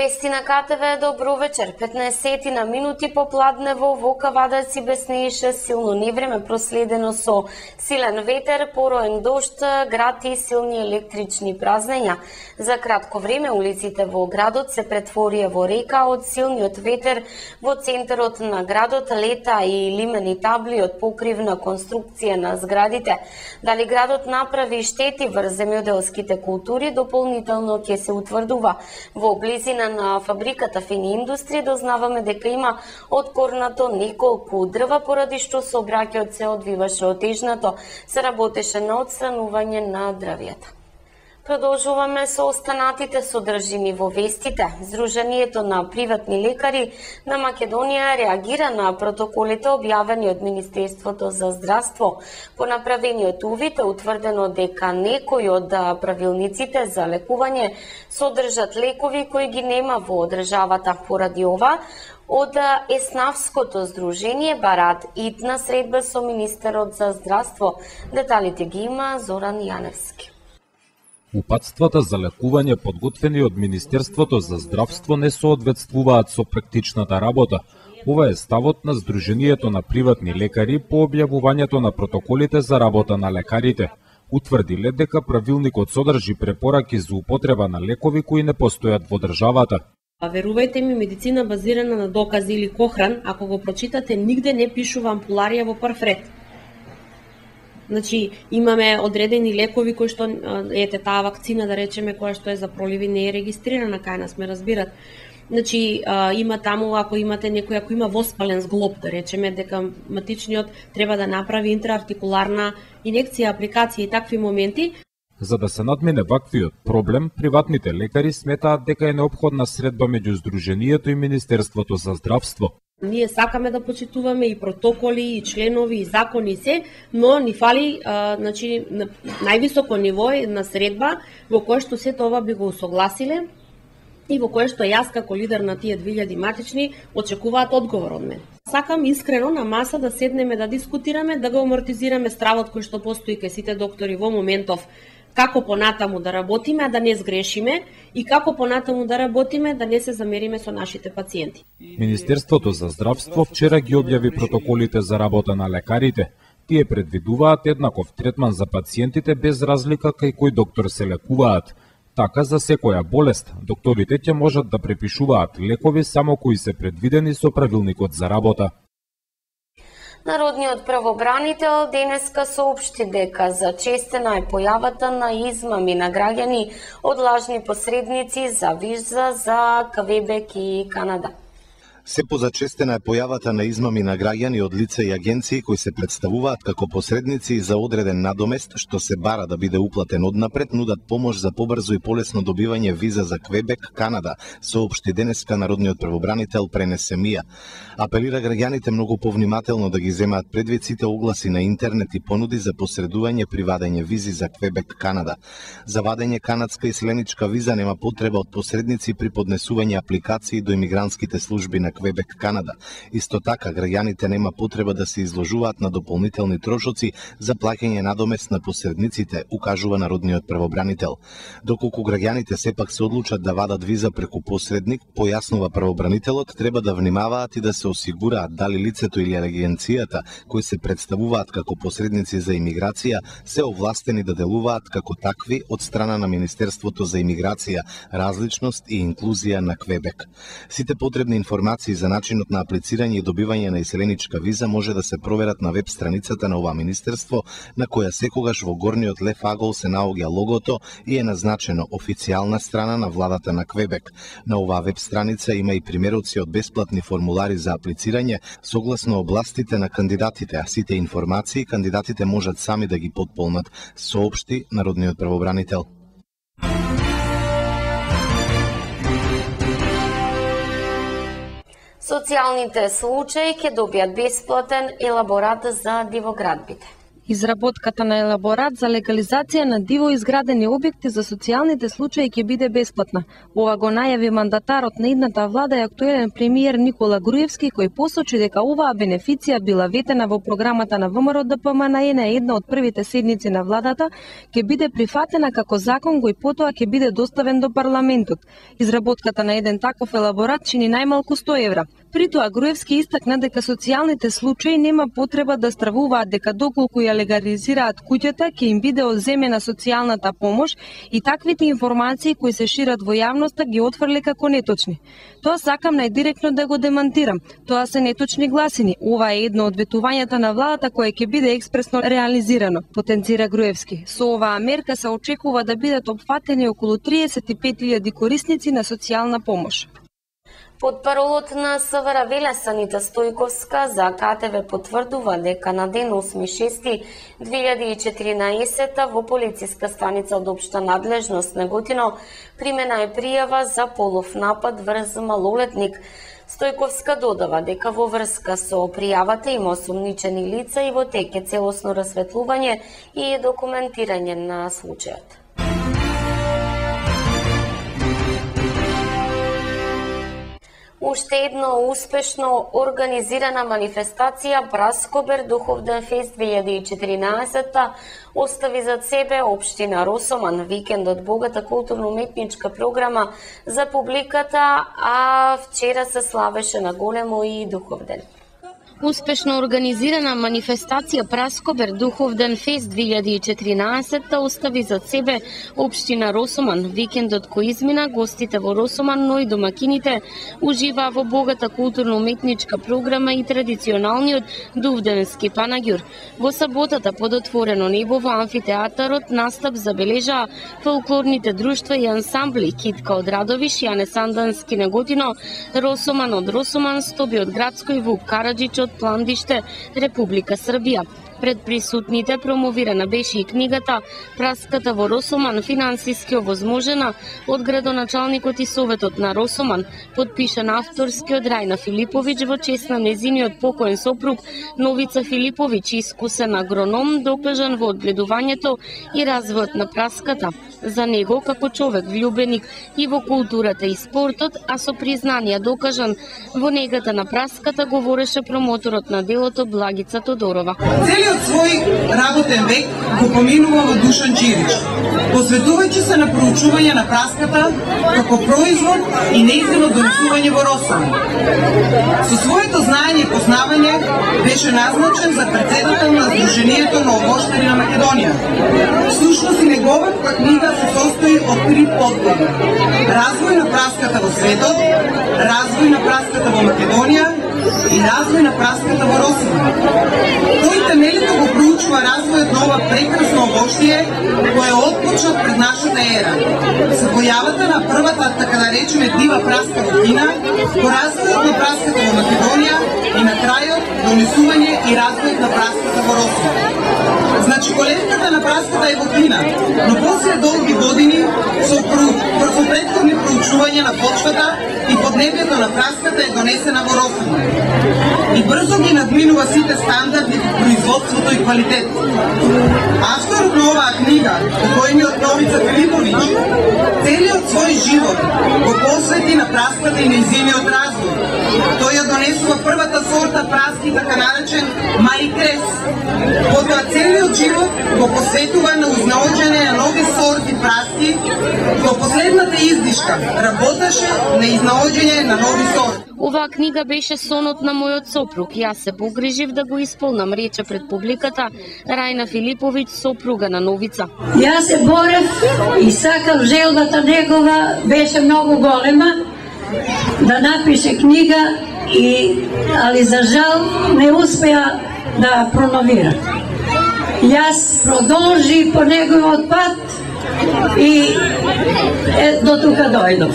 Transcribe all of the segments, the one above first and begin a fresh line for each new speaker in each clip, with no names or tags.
вести на КТВ, добро вечер. 15 на минути попладнево во Кавадарци беснееше силно невреме проследено со силен ветер, пороен дожд, град и силни електрични празнења. За кратко време улиците во градот се претворија во река од силниот ветер. Во центарот на градот лета и лимени табли од покривна конструкција на зградите. Дали градот направи штети врз земјоделските култури, дополнително ќе се утврдува. Во близина на фабриката Фини индустрија дознаваме дека има откорнато неколку дрва, поради што сообраќајот се одвиваше отежнато. Се работеше на отстранување на дрвјата. Продолжуваме со останатите содржини во вестите. Сдруженијето на приватни лекари на Македонија реагира на протоколите објавени од Министерството за здравство. По направениот увид е утврдено дека некои од правилниците за лекување содржат лекови кои ги нема во државата. Поради ова, од Еснавското здружение бараат итна средба со министерот за здравство. Деталите ги има Зоран Јаневски.
Упатствата за лекување подготвени од Министерството за здравство не соодветствуваат со практичната работа. Ова е ставот на Сдруженијето на приватни лекари по објавувањето на протоколите за работа на лекарите. Утврдиле дека правилникот содржи препораки за употреба на лекови кои не постојат во државата.
Верувајте ми, медицина базирана на докази или Кохран, ако го прочитате, нигде не пишува ампуларија во прв ред. Значи, имаме одредени лекови кои што, ете, таа вакцина, да речеме, која што е за проливи, не е регистрирана кај нас, ме разбират. Значи, има таму, ако имате некој, ако има воспален зглоб, да речеме, дека матичниот треба да направи интраартикуларна инекција, апликација и такви моменти.
За да се надмине ваквиот проблем, приватните лекари сметаат дека е неопходна средба меѓу Сдруженијето и Министерството за здравство.
Ние сакаме да почитуваме и протоколи, и членови, и закони, и се, но ни фали значи, на највисоко ниво на средба во кое што се тоа би го усогласиле и во кое што јас како лидер на тие 2000 матични очекуваат одговор од мене. Сакам искрено на маса да седнеме да дискутираме, да го амортизираме стравот кој што постои кај сите доктори во моментов, како понатаму да работиме, а да не сгрешиме, и како понатаму да работиме, да не се замериме со нашите пациенти.
Министерството за здравство вчера ги објави протоколите за работа на лекарите. Тие предвидуваат еднаков третман за пациентите без разлика кај кој доктор се лекуваат. Така, за секоја болест, докторите ќе можат да препишуваат лекови само кои се предвидени со правилникот за работа.
Народниот правобранител денеска соопшти дека зачестена е појавата на измами на граѓани од лажни посредници за виза за Квебек и Канада.
Се позачестена е појавата на измами на граѓани од лица и агенции кои се представуваат како посредници за одреден надомест, што се бара да биде уплатен однапред, нудат помош за побрзо и полесно добивање виза за Квебек, Канада, соопшти денеска народниот правобранител Пренесе Мија. Апелира граѓаните многу повнимателно да ги земаат предвид сите огласи на интернет и понуди за посредување при вадење визи за Квебек, Канада. За вадење канадска и селеничка виза нема потреба од посредници при поднесување апликации до имигрантските служби на Квебек, Канада. Исто така, граѓаните нема потреба да се изложуваат на дополнителни трошоци за плаќање надомест на посредниците, укажува народниот правобранител. Доколку граѓаните сепак се одлучат да вадат виза преку посредник, појаснува правобранителот, треба да внимаваат и да се осигураат дали лицето или агенцијата кои се представуваат како посредници за имиграција се овластени да делуваат како такви од страна на Министерството за имиграција, различност и инклузија на Квебек. Сите потребни информации за начинот на аплицирање и добивање на иселеничка виза може да се проверат на веб страницата на ова министерство, на која секогаш во горниот лев агол се наоѓа логото и е назначено официјална страна на владата на Квебек. На оваа веб страница има и примероци од бесплатни формулари за аплицирање согласно областите на кандидатите, а сите информации кандидатите можат сами да ги потполнат, соопшти народниот правобранител.
Социјалните случаи ќе добијат бесплатен елаборат за дивоградбите.
Изработката на елаборат за легализација на диво изградени објекти за социјалните случаи ќе биде бесплатна. Ова го најави мандатарот на идната влада и актуелен премиер Никола Груевски, кој посочи дека оваа бенефиција била ветена во програмата на ВМРО ДПМНЕ на една од првите седници на владата, ќе биде прифатена како закон кој потоа ќе биде доставен до парламентот. Изработката на еден таков елаборат чини најмалку 100 евра. При тоа Груевски истакна дека социјалните случаи нема потреба да стравуваат дека доколку ја легализираат куќата ќе им биде одземена социјалната помош и таквите информации кои се шират во јавноста ги отфрли како неточни. Тоа сакам најдиректно да го демантирам. Тоа се неточни гласини. Ова е едно од ветувањата на владата кое ќе биде експресно реализирано, потенцира Груевски. Со оваа мерка се очекува да бидат опфатени околу 35.000 корисници на социјална помош.
Потпаролот на СВР Велесанита Стојковска за КТВ потврдува дека на ден 8.6.2014 во полициска станица од општа надлежност Неготино примена е пријава за полов напад врз малолетник. Стојковска додава дека во врска со пријавата има осумничени лица и во тек е целосно расветлување и документирање на случајот. Уште едно успешно организирана манифестација Праскобер Духовден фест 2014 остави зад себе општина Росоман. Викендот богата културно-уметничка програма за публиката, а вчера се славеше на големо и Духовден.
Успешно организирана манифестација Праскобер Духовден фест 2014 остави зад себе општина Росоман. Викендот кој измина, гостите во Росоман, но и домакините уживаа во богата културно-уметничка програма и традиционалниот Дувденски панаѓур. Во саботата под отворено небо во амфитеатарот настап забележаа фолклорните друштва и ансамбли Китка од Радовиш, Јане Сандански Неготино, Росоман од Росоман, Стоби од Градско и Вук Караджич од Пландиште, Република Србија. Пред присутните промовирана беше и книгата Праската во Росоман, финансиски овозможена од градоначалникот и советот на Росоман, подпишан авторски од Рајна Филиповиќ во чест на незиниот покоен сопруг Новица Филиповиќ, искусен агроном, докажан во одгледувањето и развојот на праската. За него, како човек влюбеник и во културата и спортот, а со признанија докажан во негата на праската, говореше промоторот на делото Благица Тодорова.
Целиот свој работен век го поминува во Душан Чирич, посветувајќи се на проучување на праската како производ и нејзино донесување во Росоман. Со своето знаење и познавање беше назначен за председател на Сдруженијето на овоштари на Македонија. Всушност и неговата книга се состои од 3 подглави: развој на праската во светот, развој на праската во Македонија и развој на праската во Росоман. Тој темелито го проучува развојот на ова прекрасно овоштие кое отпочна пред нашата ера, со појавата на првата, така да речеме, дива праска во Кина, по развојот на праската во Македонија и на крајот донесување и развојот на праската во Росоман. Значи, колевката на праската е во Кина, но после долги години со предходни проучувања на почвата и поднебјето на праската е донесена во Росоман. И брзо ги надминува сите стандарди во производството и квалитет. Авторот на оваа книга, покојниот Новица Филиповиќ, целиот свој живот го посвети на праската и нејзиниот развој. Тој ја донесува првата сорта праски, така наречен Мари Крес. Потоа целиот живот го посветува на узнаоѓање на нови сорти праски, до последната издишка работеше на изнаоѓање на нови сорти.
Оваа книга беше сонот на мојот сопруг. Јас се погрижив да го исполнам, рече пред публиката Рајна Филиповиќ, сопруга на Новица.
Јас се борев и сакав, желбата негова беше многу голема да напише книга, али за жал не успеа да промовира. Јас продолжи по неговиот пат И до тука дојдов.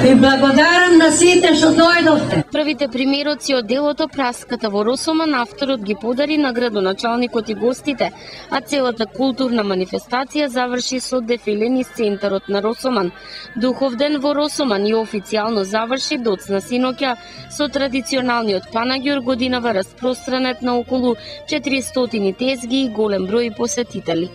И благодарам на сите што дојдовте.
Првите примероци од делото Праската во Росоман авторот ги подари на градоначалникот и гостите, а целата културна манифестација заврши со дефиле низ центарот на Росоман. Духовден во Росоман и официјално заврши доцна синоќа со традиционалниот панагјур, годинава распространет на околу 400 тезги и голем број посетители.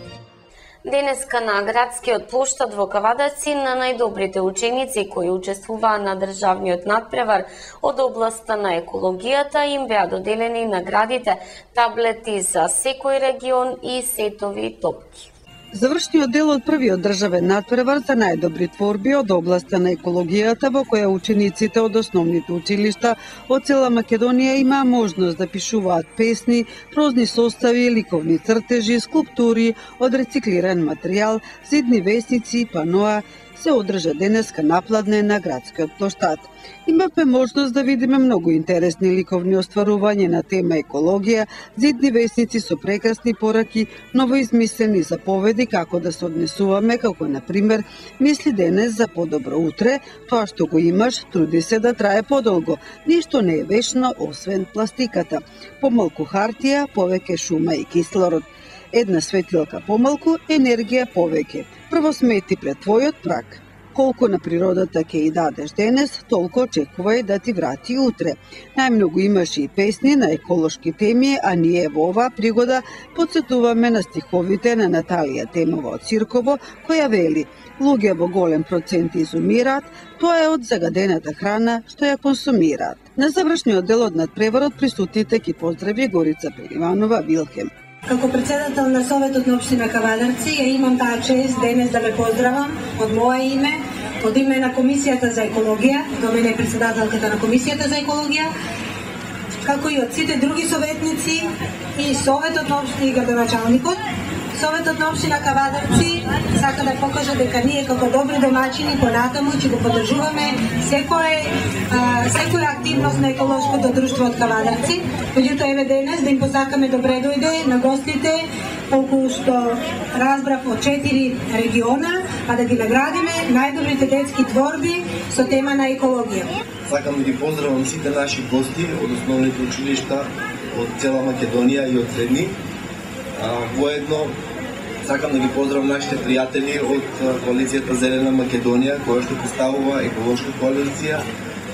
Денеска на градскиот плоштад во Кавадаци на најдобрите ученици кои учествуваа на државниот надпревар од областа на екологијата им беа доделени наградите, таблети за секој регион и сетови топки.
Завршниот дел од првиот државен надпревар за најдобри творби од областа на екологијата, во која учениците од основните училишта од цела Македонија имаа можност да пишуваат песни, прозни состави, ликовни цртежи, скулптури од рециклиран материјал, зидни весници и паноа, се одржа денеска напладне на градскиот плоштад. Имавме можност да видиме многу интересни ликовни остварувања на тема екологија, зидни весници со прекрасни пораки, новоизмислени заповеди како да се однесуваме, како на пример мисли денес за подобро утре, тоа што го имаш, труди се да трае подолго, ништо не е вечно освен пластиката. Помалку хартија, повеќе шума и кислород. Една светилка помалку, енергија повеќе. Прво смети пред твојот праг. Колку на природата ќе и дадеш денес, толку очекувај да ти врати утре. Најмногу имаше и песни на еколошки теми, а ние во оваа пригода подсетуваме на стиховите на Наталија Темова од Цирково, која вели: луѓе во голем процент изумираат, тоа е од загадената храна што ја консумираат. На завршниот дел од надпреварот присутните ги поздрави Горица Пеливанова Вилхем.
Како председател на Советот на општина Кавадарци, ја имам таа чест денес да ве поздравам од моје име, од име на Комисијата за екологија, до мене е председателката на Комисијата за екологија, како и од сите други советници и Советот на општина и градоначалникот. Советот на општина Кавадарци сака да покаже дека ние како добри домаќини понатаму ќе го поддржуваме секоја активност на еколошкото друштво од Кавадарци. Меѓутоа еве денес да им посакаме добре дојде на гостите, колку што разбрав од 4 региона, а да ги наградиме најдобрите детски творби со тема на екологија.
Сакам да ги поздравам сите наши гости од основните училишта од цела Македонија и од средни. Воедно сакам да ги поздравам нашите пријатели од коалицијата Зелена Македонија, која што представува еколошка коалиција,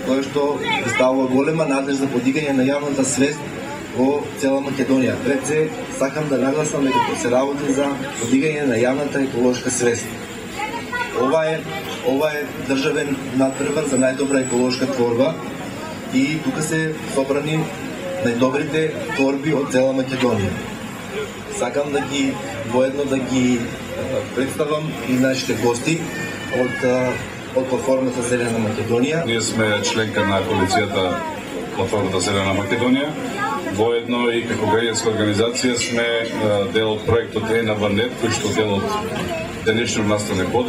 која што представува голема надеж за подигање на јавната свест во цела Македонија. Пред се сакам да нагласам дека се работи за подигање на јавната еколошка свест. Ова е државен надпревар за најдобра еколошка творба и тука се собрани најдобрите творби од цела Македонија. Сакам воедно да ги представам и нашите гости од платформата Зелена Македонија.
Ние сме членка на коалицијата платформата Зелена Македонија. Воедно и како граѓанска организација сме дел од проектот ЕНАБНет, кој што дел од денешниот настан го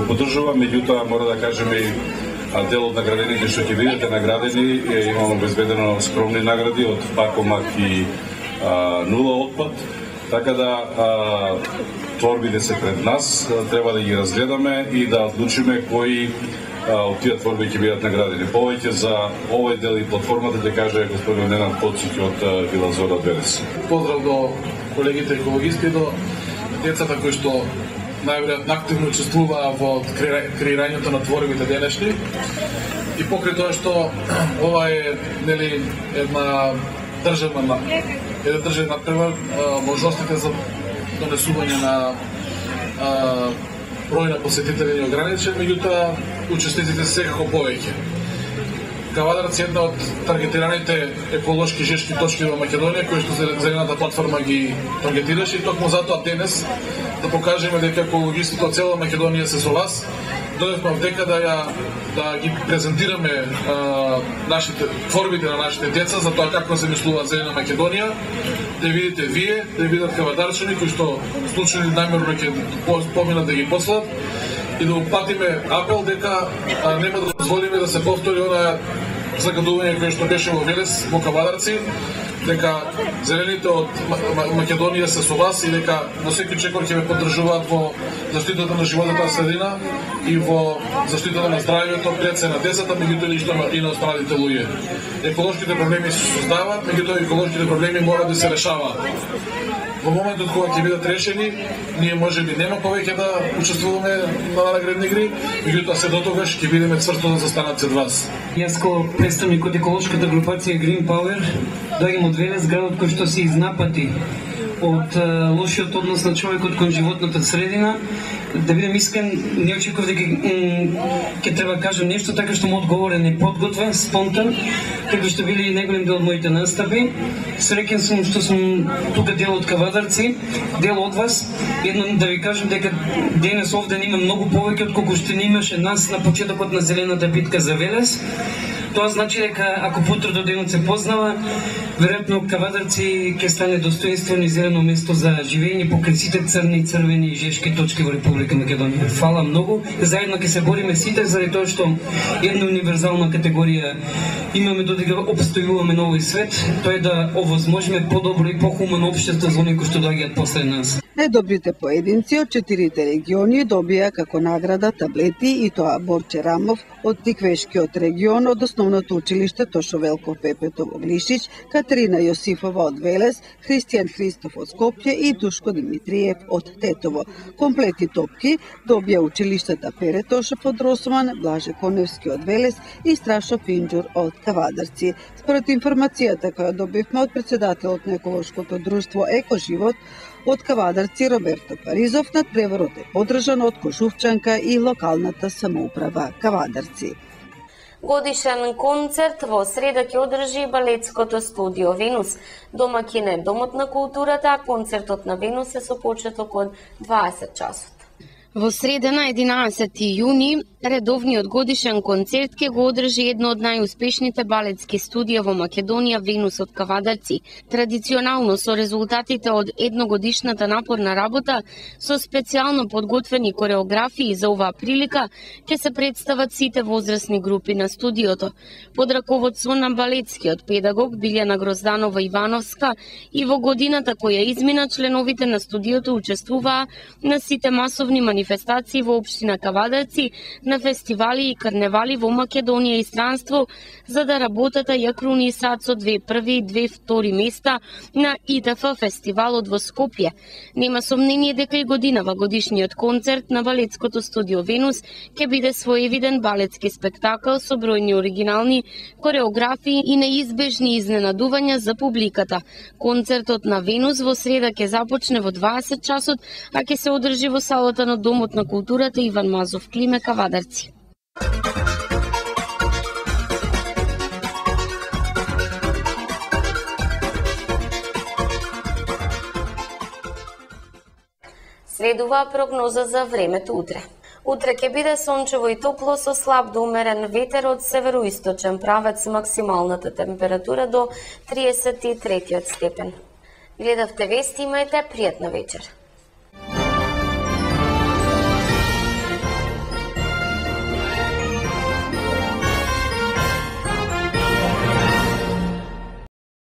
поддржува, меѓутоа мора да кажеме и дел од наградените што ќе бидете наградени, имamo обезбедено скромни награди од Пакомак и нула отпад, така да творбите се пред нас, треба да ги разгледаме и да одлучиме кои од тие творби ќе бидат наградени. Повеќе за овој дел и платформата ќе каже господин Ненад Поцик од Вила Зора Берес.
Поздрав до колегите екологисти, до децата кои што најверојатно активно учествуваа во креирањето на творбите денешни. И покрај тоа што ова е една државен надпревар, можностите за донесување на број на посетители не ограничен, меѓутоа учесниците секако повеќе. Кавадарци е една од таргетираните еколошки жешки точки во Македонија, кои што Зелената платформа ги таргетираше, и токму затоа денес да покажеме дека екологистите од цела Македонија се со вас. Дојдовме овдека да ги презентираме творбите на нашите деца за тоа како се мислува Зелена Македонија, да видите вие, да видат кавадарчани кои што случајно намерно ќе поминат да ги послат и да упатиме апел дека нема да дозволиме да се повтори она загадување кое што беше во Велес, во Кавадарци, дека зелените од Македонија се со вас и дека на секој чекор ќе ве поддржуваат во заштитата на животната средина и во заштитата на здравјето пред се на децата, меѓутоа и на останатите луѓе. Еколошките проблеми се создаваат, меѓутоа еколошките проблеми мора да се решаваат. Во моментот кога ќе бидат решени, ние можеби нема повеќе да учествуваме на наградни игри, меѓутоа се дотогаш ќе бидеме цврсто да застанат пред вас.
Јас како представник од еколошката групација Green Power доаѓам од Велес, градот кој што се изнапати од лошиот однос на човекот кон животната средина. Да бидем искрен, не очекував дека ќе треба кажам нешто така што му одговорен, неподготвен, спонтан, како што били и неголем дел од моите настапи. Среќен сум што сум тука дел од Кавадарци, дел од вас. Едно да ви кажам дека денес овде има многу повеќе отколку што не имаше нас на почетокот на зелената битка за Велес. Тоа значи дека ако потрото денот се познава, веројатно Кавадарци ќе стане достоинствено и зелено место за живење покрај сите црни, црвени и жешки точки во Република Македонија. Фала многу. Заедно ќе се бориме сите заради тоа што една универзална категорија имаме додека обстојуваме на овој свет, тоа е да овозможиме подобро и похумано општество за оние кои што доаѓаат после нас.
Најдобрите поединци од 4 региони добија како награда таблети и тоа Борче Рамов од Тиквешкиот регион од Основното училиште Тошо Велков Пепето во Глишич, Катерина Јосифова од Велес, Христијан Христов од Скопје и Душко Димитриев од Тетово. Комплети топки добија училиштата Пере Тошев од Росман, Блаже Коневски од Велес и Страшо Пинџур од Кавадарци. Според информацијата која добивме од председателот на еколошкото друштво Екоживот од Кавадарци Роберто Паризов, надпреварот е подржан од Кошувчанка и локалната самоуправа Кавадарци.
Годишен концерт во среда ќе одржи балетското студио Венус. Домакин е Домот на културата, а концертот на Венус е со почеток од 20 часот.
Во среда на 11 јуни, редовниот годишен концерт ќе го одржи едно од најуспешните балетски студија во Македонија, Венус од Кавадарци. Традиционално со резултатите од едногодишната напорна работа, со специјално подготвени кореографии за оваа прилика, ќе се представат сите возрастни групи на студиото. Под раководство на балетскиот педагог Билјана Грозданова Ивановска и во годината која измина, членовите на студиото учествуваа на сите масовни манифестации во општина Кавадарци, на фестивали и карневали во Македонија и странство, за да работата ја крунисаат со 2 први и 2 втори места на ИТФ фестивалот во Скопје. Нема сомнение дека и годинава годишниот концерт на балетското студио Венус ќе биде своевиден балетски спектакл со бројни оригинални кореографии и неизбежни изненадувања за публиката. Концертот на Венус во среда ќе започне во 20 часот, а ќе се одржи во салата на Домот на културата Иван Мазов Климе, Кавадарци.
Следува прогноза за времето утре. Утре ќе биде сончево и топло со слаб до умерен ветер од североисточен правец, максималната температура до 33 степен. Гледавте вести, имајте пријатна вечер.